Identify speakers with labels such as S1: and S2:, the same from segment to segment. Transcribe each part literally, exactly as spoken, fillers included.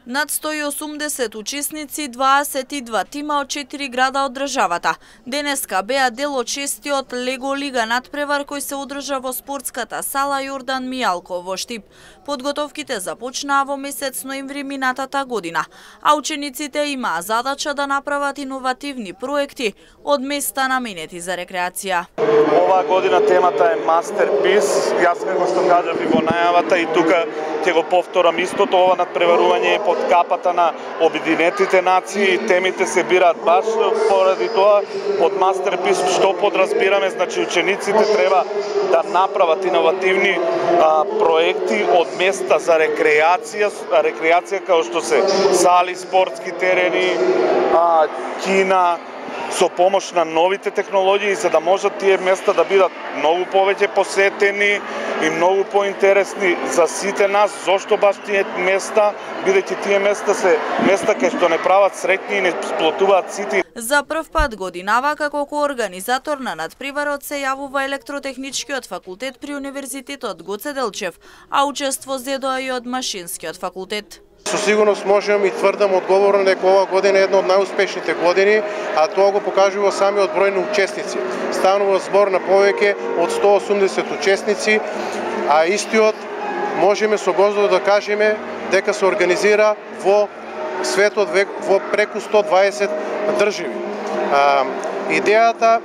S1: Над сто и осумдесет учесници, дваесет и два тима од четири града од државата. Денеска беа дел од шестиот Лего Лига надпревар кој се одржа во спортската сала Јордан Мијалко во Штип. Подготовките започнаа во месец ноември минатата година, а учениците имаа задача да направат иновативни проекти од места наменети за рекреација.
S2: Оваа година темата е Мастерпис. Јас како што кажав и во најавата и тука ќе го повторам истото, ова надпреварување е под капата на Обединетите нации, темите се бираат баш поради тоа под Мастерпис, што подразбираме, значи учениците треба да направат иновативни а, проекти од места за рекреација, рекреација како што се сали, спортски терени, а, кина, со помош на новите технологии, за да можат тие места да бидат многу повеќе посетени и многу поинтересни за сите нас. Зошто баш тие места, бидејќи тие места се места кај што не прават среќни и не сплотуваат сите.
S1: За прв пат годинава како коорганизатор на надпреварот се јавува Електротехничкиот факултет при Универзитетот Гоце Делчев, а учество зедоа и од Машинскиот факултет.
S3: Со сигурност можам и тврдам одговорно дека ова година е една од најуспешните години, а тоа го покажува самиот број на учесници. Станува збор на повеќе од сто и осумдесет учесници, а истиот можеме со гордост да кажеме дека се организира во светот во преку сто и дваесет држави. А, идејата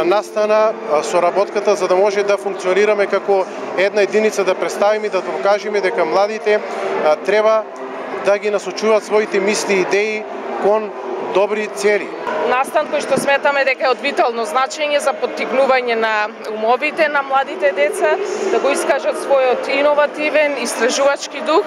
S3: настана соработката за да може да функционираме како една единица, да представиме и да покажеме дека младите а, треба да ги насочуваат своите мисли и идеи кон добри цели.
S4: Настан кој што сметаме дека е од витално значење за поттикнување на умовите на младите деца, да го искажат својот иновативен, истражувачки дух.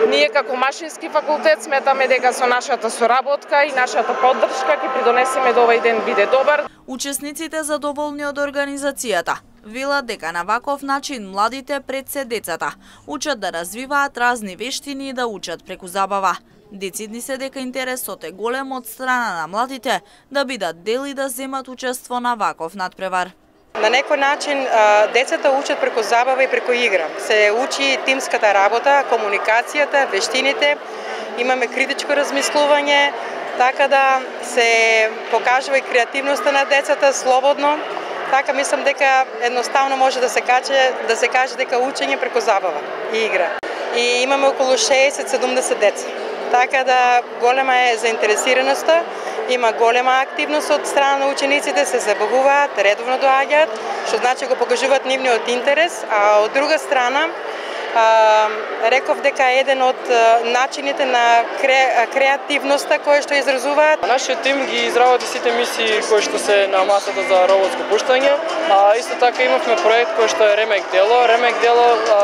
S4: Ние како Машински факултет сметаме дека со нашата соработка и нашата поддршка ќе придонесеме да овој ден биде добар.
S1: Учесниците задоволни од организацијата велат дека на ваков начин младите пред се децата учат да развиваат разни вештини и да учат преку забава. Децидни се дека интересот е голем од страна на младите да бидат дел и да земат учество на ваков надпревар.
S5: На некој начин децата учат преку забава и преку игра. Се учи тимската работа, комуникацијата, вештините, имаме критичко размислување, така да се покажува и креативноста на децата слободно. Така мислам дека едноставно може да се каже да се каже дека учење преку забава и игра. И имаме околу шеесет до седумдесет деца. Така да голема е заинтересираноста, има голема активност од страна на учениците, се забавуваат, редовно доаѓаат, што значи го покажуваат нивниот интерес, а од друга страна а, реков дека е еден од начините на кре, креативноста која што изразуваат.
S6: Нашиот тим ги изработи сите мисии кои што се на масата за роботско пуштање, а исто така имавме проект кој што е Ремек дело. Ремек дело а,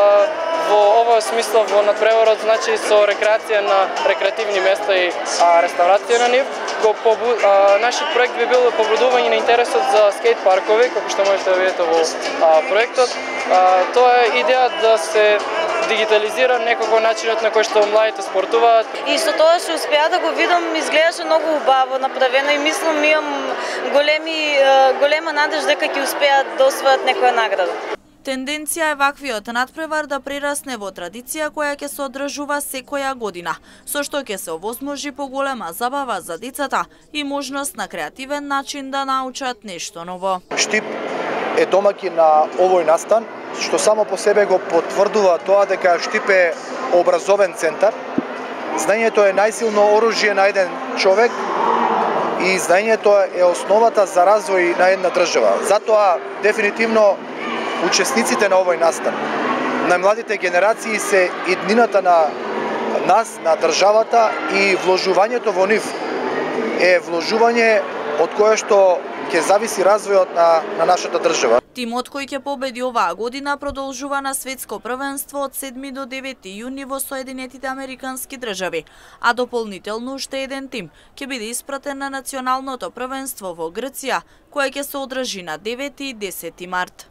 S6: во овој смисла во надпреварот значи со рекреација на рекреативни места и а, реставрација на нив. Го побу... а, нашиот проект би бил побудување на интересот за скейт паркови, како што можете да видите во а, проектот. А, тоа е идеја да се дигитализира некако начинот на кој што младите спортуваат.
S7: И со тоа што успеа да го видам, изгледаше многу убаво направено и мислам имам големи голема надеж дека ќе успеат да освојат некоја награда.
S1: Тенденција е ваквиот надпревар да прерасне во традиција која ќе се одржува секоја година, со што ќе се овозможи поголема забава за децата и можност на креативен начин да научат нешто ново.
S8: Штип е домаќин на овој настан, што само по себе го потврдува тоа дека Штип е образовен центар. Знаењето е најсилно оружје на еден човек и знаењето е основата за развој на една држава. Затоа дефинитивно учесниците на овој настан, на младите генерации се иднината на нас, на државата, и вложувањето во нив е вложување од кое што ќе зависи развојот на, на нашата држава.
S1: Тимот кој ќе победи оваа година продолжува на светско првенство од седми до девети јуни во Соединетите Американски држави, а дополнително уште еден тим ќе биде испратен на националното првенство во Грција, кое ќе се одржи на девети и десети март.